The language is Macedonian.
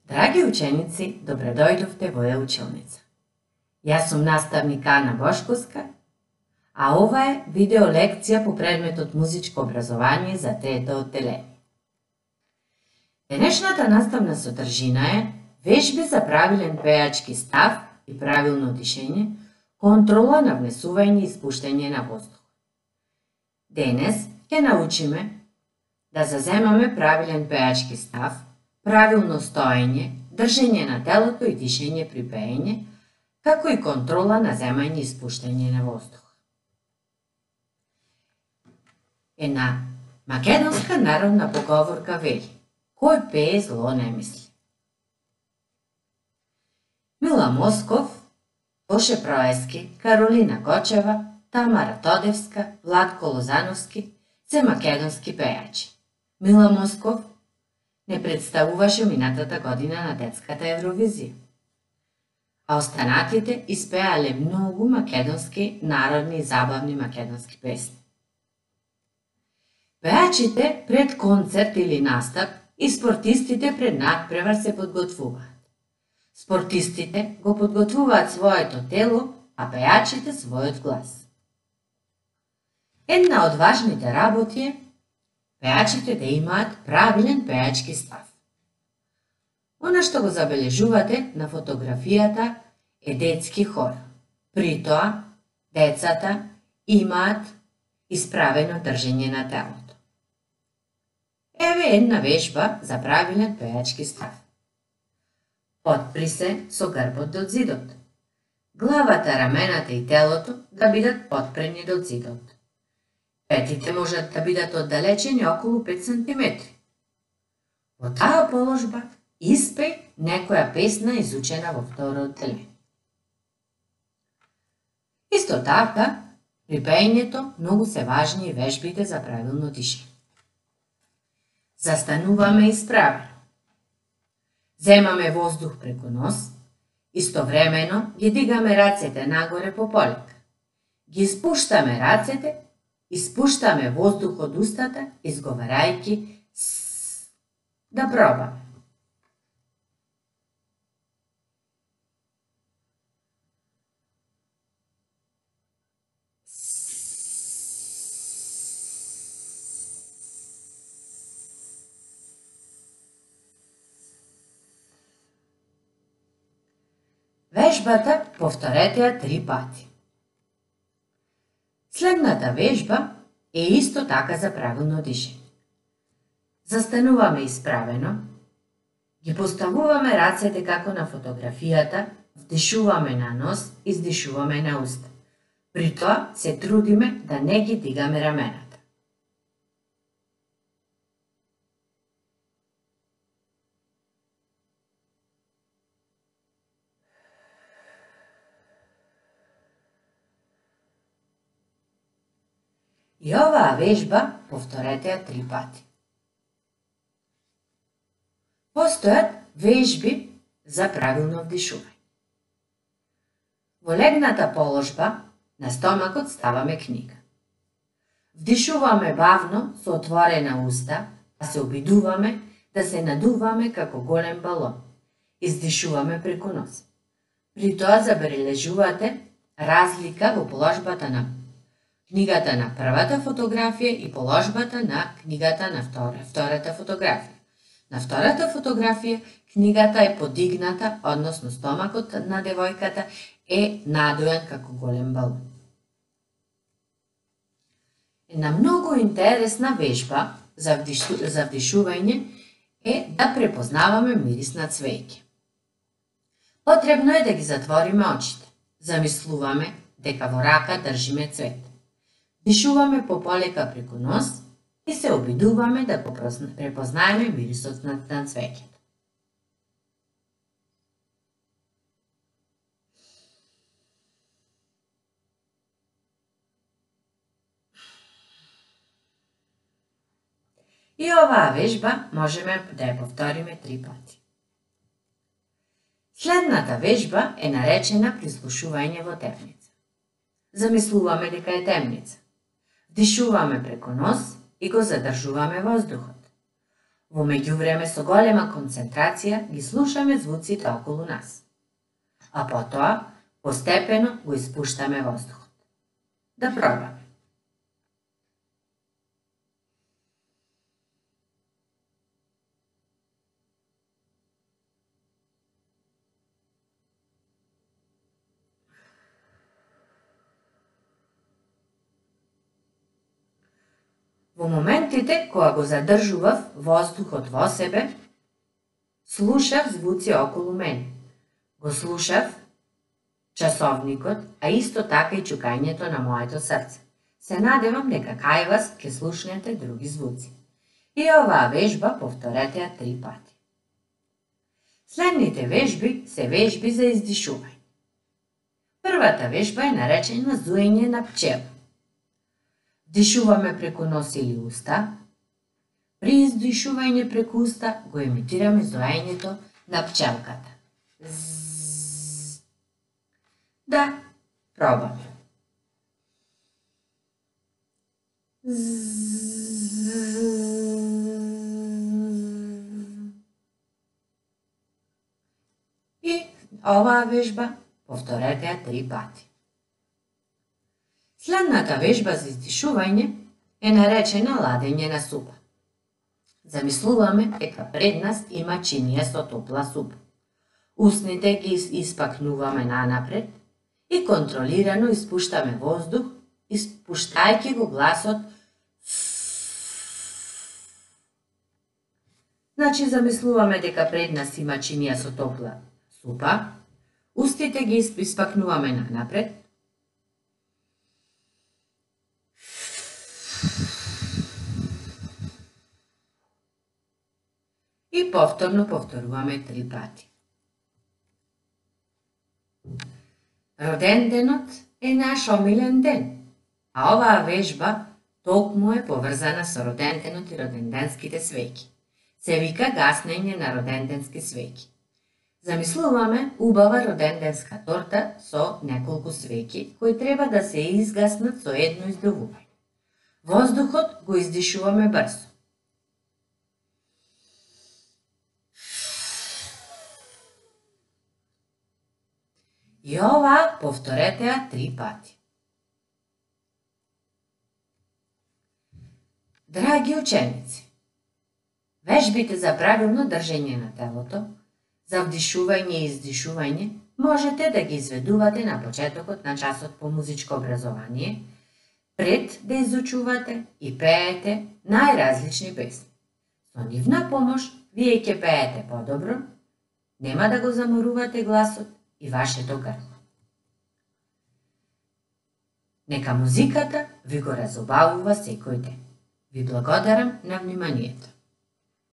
Драги ученици, добредојдовте во Е-училница. Јас сум наставник Ана Бошковска, а ова е видео лекција по предметот музичко образование за трето одделение. Денешната наставна содржина е вежби за правилен пејачки став и правилно дишење, контрола на внесување и испуштање на воздух. Денес ќе научиме да заземаме правилен пејачки став, правилно стоење, држење на телото и дишење при пеење, како и контрола на земање и испуштање на воздух. Една македонска народна поговорка вели: кој пее зло не мисли. Мила Москов, Тоше Проески, Каролина Кочева, Тамара Тодевска, Владко Лозановски се македонски пејачи. Мила Москов не представуваше минатата година на детската Евровизија, а останатите испеале многу македонски народни и забавни македонски песни. Пејачите пред концерт или настап и спортистите пред надпревар се подготвуваат. Спортистите го подготвуваат своето тело, а пејачите својот глас. Една од важните работи е пејачите да имаат правилен пејачки став. Она што го забележувате на фотографијата е детски хор. При тоа, децата имаат исправено држење на телото. Еве една вежба за правилен пејачки став. Отпри се со грбот до зидот. Главата, рамената и телото да бидат отпрени до зидот. Петите можат да бидат оддалечени околу 5 см. Во таа положба испеј некоја песна изучена во второ одделение. Исто така, при пеењето многу се важни и вежбите за правилно дишење. Застануваме исправено. Земаме воздух преку нос, истовремено ги дигаме рацете нагоре по полека. Ги спуштаме рацете, испуштаме воздух од устата, изговарајќи с. Да пробаме. Вежбата повторете ја 3 пати. Следната вежба е исто така за правилно дишење. Застануваме исправено, ги поставуваме рацете како на фотографијата, вдишуваме на нос, издишуваме на уста. При тоа се трудиме да не ги дигаме рамената. И оваа вежба повторете ја 3 пати. Постојат вежби за правилно вдишување. Во легната положба на стомакот ставаме книга. Вдишуваме бавно со отворена уста, а се обидуваме да се надуваме како голем балон. Издишуваме преку нос. При тоа забележувате разлика во положбата на книгата на првата фотографија и положбата на книгата на втората фотографија. На втората фотографија книгата е подигната, односно стомакот на девојката е надуен како голем балон. Една многу интересна вежба за вдишување е да препознаваме мирис на цвеќе. Потребно е да ги затвориме очите. Замислуваме дека во рака држиме цвет. Дишуваме пополека преку нос и се обидуваме да го препознаеме мирисот на цвеќето. И оваа вежба можеме да ја повториме 3 пати. Следната вежба е наречена прислушување во темница. Замислуваме дека е темница. Дишуваме преку нос и го задржуваме воздухот. Во меѓувреме со голема концентрација ги слушаме звуците околу нас, а потоа постепено го испуштаме воздухот. Да пробаме. Во моментите кога го задржував воздухот во себе, слушав звуци околу мене. Го слушав часовникот, а исто така и чукањето на моето срце. Се надевам дека кај вас ќе слушнете други звуци. И оваа вежба повторете ја 3 пати. Следните вежби се вежби за издишување. Првата вежба е наречена зуење на пчела. Дишуваме преку нос или уста. При издишување преку уста го емитираме зоењето на пчелката. Да, пробаме. И оваа вежба повторете ја 3 пати. Следната вежба за издишување е наречена ладење на супа. Замислуваме дека пред нас има чинија со топла супа. Устните ги испакнуваме нанапред и контролирано испуштаме воздух, испуштајќи го гласот. Значи замислуваме дека пред нас има чинија со топла супа, устите ги испакнуваме нанапред, и повторно повторуваме 3 пати. Роденденот е наш омилен ден, а оваа вежба токму е поврзана со роденденот и роденденските свеќи. Се вика гаснење на роденденски свеќи. Замислуваме убава роденденска торта со неколку свеќи кои треба да се изгаснат со едно издувување. Воздухот го издишуваме брзо. И ова повторете ја 3 пати. Драги ученици, вежбите за правилно држење на телото, за вдишување и издишување, можете да ги изведувате на почетокот на часот по музичко образование, пред да изучувате и пеете најразлични песни. Со нивна помош, вие ќе пеете подобро, нема да го заморувате гласот и вашето грло. Нека музиката ви го разобавува секој ден. Ви благодарам на вниманието.